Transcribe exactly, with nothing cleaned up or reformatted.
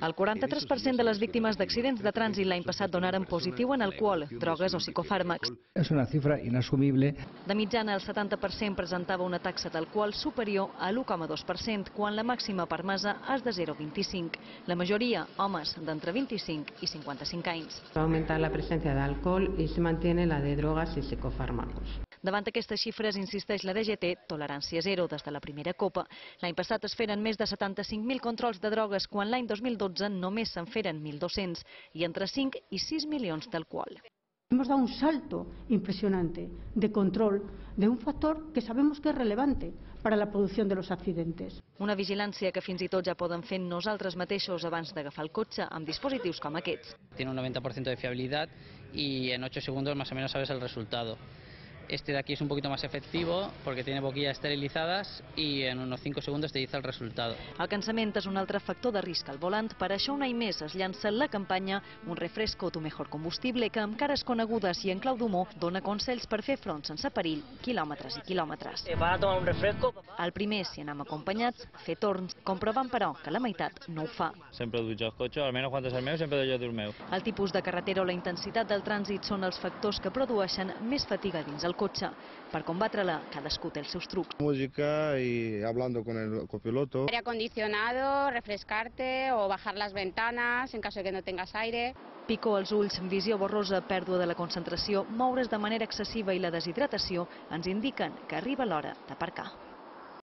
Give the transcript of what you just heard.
El quaranta-tres per cent de les víctimes d'accidents de trànsit l'any passat donaren positiu en alcohol, drogues o psicofàrmacs. És una xifra inassumible. De mitjana, el setanta per cent presentava una taxa d'alcohol superior a l'u coma dos per cent, quan la màxima permesa és de zero coma vint-i-cinc. La majoria, homes d'entre vint-i-cinc i cinquanta-cinc anys. Va augmentar la presència d'alcohol i se mantiene la de drogas y psicofármacos. Davant aquestes xifres, insisteix la D G T, tolerància zero des de la primera copa. L'any passat es feren més de setanta-cinc mil controls de drogues, quan l'any dos mil dotze només se'n feren mil dos-cents, i entre cinc i sis milions d'alcohol. Hemos dado un salto impresionante de control de un factor que sabemos que es relevante para la producción de los accidentes. Una vigilància que fins i tot ja poden fer nosaltres mateixos abans d'agafar el cotxe amb dispositius com aquests. Tiene un noventa por ciento de fiabilidad y en ocho segundos más o menos sabes el resultado. Este de aquí es un poquito más efectivo porque tiene boquillas esterilizadas y en unos cinco segundos te dice el resultado. El cansament és un altre factor de risc al volant. Per això un any més es llança la campanya Un refresco tu mejor combustible, que amb cares conegudes i en clau d'humor dona consells per fer front sense perill, quilòmetres i quilòmetres. ¿Para tomar un refresco? El primer, si anem acompanyats, fer torns, comprovant però que la meitat no ho fa. Sempre duig el cotxe, almenys quan és el meu, sempre jo el meu. El tipus de carretera o la intensitat del trànsit són els factors que produeixen més fatiga dins el cotxe. Per combatre-la, cadascú té els seus trucs. Música y hablando con el copiloto. Aire acondicionado, refrescarte o bajar las ventanas en caso de que no tengas aire. Picor als ulls, visió borrosa, pèrdua de la concentració, moure's de manera excessiva i la deshidratació ens indiquen que arriba l'hora d'aparcar.